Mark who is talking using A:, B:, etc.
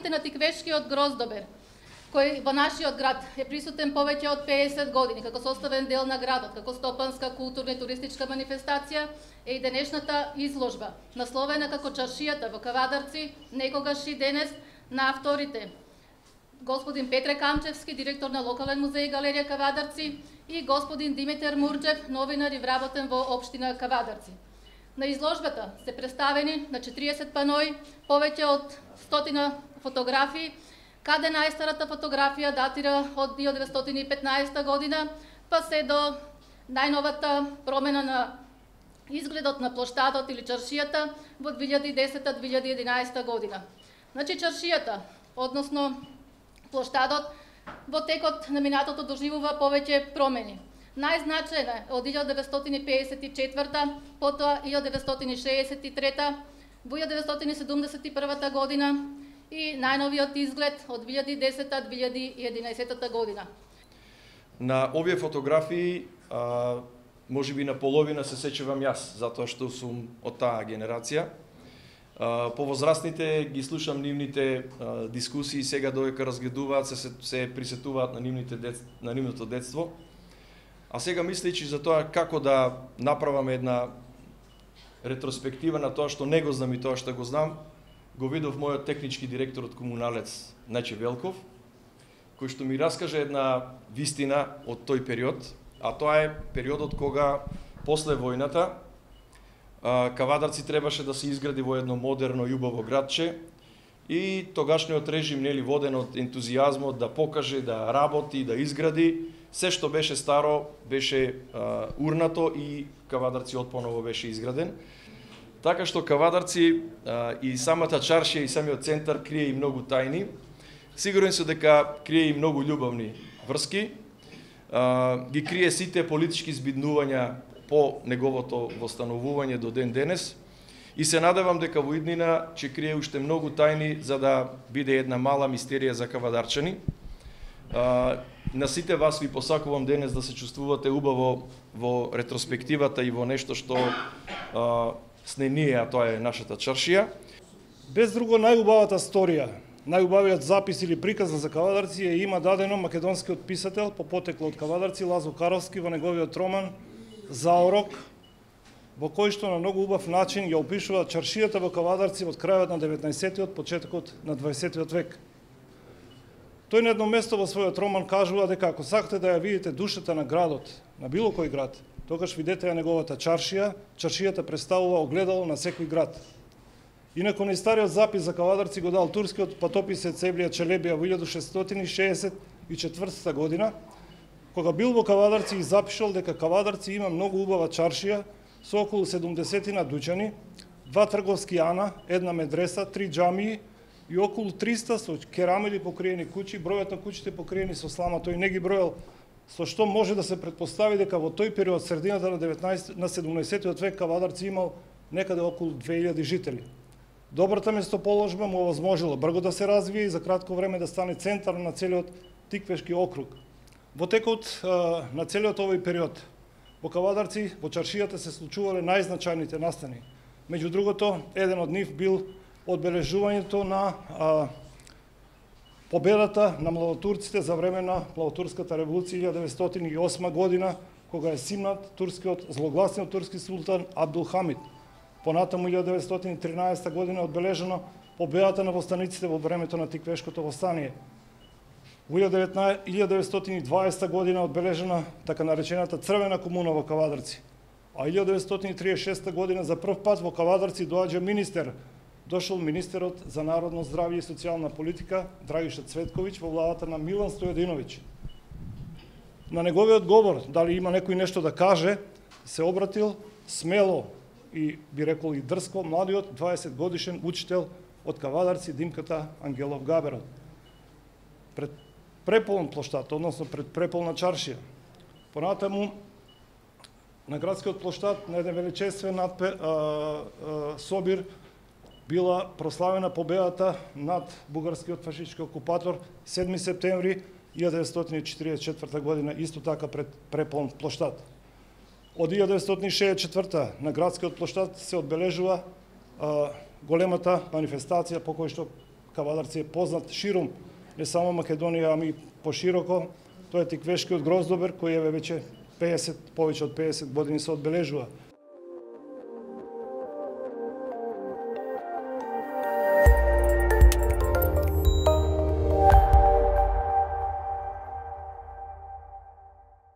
A: Празниците на Тиквешкиот гроздобер, кој во нашиот град е присутен повеќе од 50 години како составен дел на градот, како стопанска, културна и туристичка манифестација, е и денешната изложба, насловена како Чаршијата во Кавадарци, некогаш и денес, на авторите господин Петре Камчевски, директор на локален музеј галерија Кавадарци, и господин Димитар Мурџев, новинар и вработен во општина Кавадарци. На изложбата се представени на 40 панои, повеќе од 100 фотографии, каде најстарата фотографија датира од 1915 година, па се до најновата промена на изгледот на плоштадот или чаршијата во 2010-2011 година. Значи чаршијата, односно плоштадот, во текот на минатото доживува повеќе промени. Најзначајна е од 1954, потоа 1963, во 1971 година и најновиот изглед од 2010-2011 година.
B: На овие фотографии, можеби на половина се сечевам јас, затоа што сум од таа генерација. Повозрастните ги слушам нивните дискусии, сега додека разгледуваат, се присетуваат на нивното детство. А сега мислејќи за тоа како да направаме една ретроспектива на тоа што не го знам и тоа што го знам, го видов мојот технички директор од Комуналец Наче Велков, кој што ми раскаже една вистина од тој период, а тоа е периодот кога после војната Кавадарци требаше да се изгради во едно модерно и убаво градче и тогашниот режим, нели, воден од ентузијазмот да покаже, да работи, да изгради, се што беше старо беше урнато и Кавадарци отпоново беше изграден. Така што Кавадарци и самата чаршија и самиот центар крие и многу тајни. Сигурен сум дека крие и многу љубовни врски. Ги крие сите политички збиднувања по неговото востановување до ден денес. И се надевам дека во иднина ќе крие уште многу тајни за да биде една мала мистерија за кавадарчани. На сите вас ви посакувам денес да се чувствувате убаво во ретроспективата и во нешто што сне ние, а тоа е нашата чаршија.
C: Без друго, најубавата сторија, најубавиот запис или приказ за Кавадарци ја има дадено македонскиот писател по потекло од Кавадарци Лазо Каровски во неговиот роман Заорок, во кој што на многу убав начин ја опишува чаршијата во Кавадарци од крајот на 19-тиот, почетокот на 20-тиот век. Тој на едно место во својот роман кажува дека ако сакате да ја видите душата на градот, на било кој град, тогаш видете ја неговата чаршија. Чаршијата представува огледало на секој град. Инаку најстариот запис за Кавадарци го дал турскиот патописец Евлија Челебија во 1664 година, кога бил во Кавадарци и запишал дека Кавадарци има многу убава чаршија со околу 70 дуќани, 2 трговски ана, една медреса, 3 џамии и околу 300 со керамиди покриени куќи. Бројот на куќите покриени со слама тој не ги бројал, со што може да се претпостави дека во тој период, средината на 17-тиот век, Кавадарци имал некаде околу 2000 жители. Добрата местоположба му овозможила брзо да се развие и за кратко време да стане центар на целиот Тиквешки округ. Во текот на целиот овој период во Кавадарци, во чаршијата се случувале најзначајните настани. Меѓу другото, еден од нив бил одбележувањето на победата на младотурците за време на Младотурската револуција 1908 година, кога е симнат злогласниот турски султан Абдул Хамид. Понатаму 1913 година одбележено победата на востаниците во времето на Тиквешкото востание. Во 1920 година одбележена така наречената Црвена комуна во Кавадарци. А 1936 година за прв пат во Кавадарци доаѓа министер. Дошол министерот за народно здравје и социјална политика Драгиша Цветковиќ во владата на Милан Стојадиновиќ. На неговиот говор, дали има некој нешто да каже, се обратил смело и би рекол и дрско младиот 20 годишен учител од Кавадарци Димката Ангелов Габерот. Пред преполн плоштад, односно пред преполна чаршија. Понатаму на градскиот плоштад на еден величествен собир била прославена победата над бугарскиот фашистички окупатор 7 септември 1944 година, исто така пред преполн плоштад. Од 1964 на градскиот плоштад се одбележува големата манифестација по кој што кавадарци е познат ширум, не само Македонија, ами пошироко. Тоа е тиквешкиот гроздобер кој е веќе повеќе од 50 години се одбележува.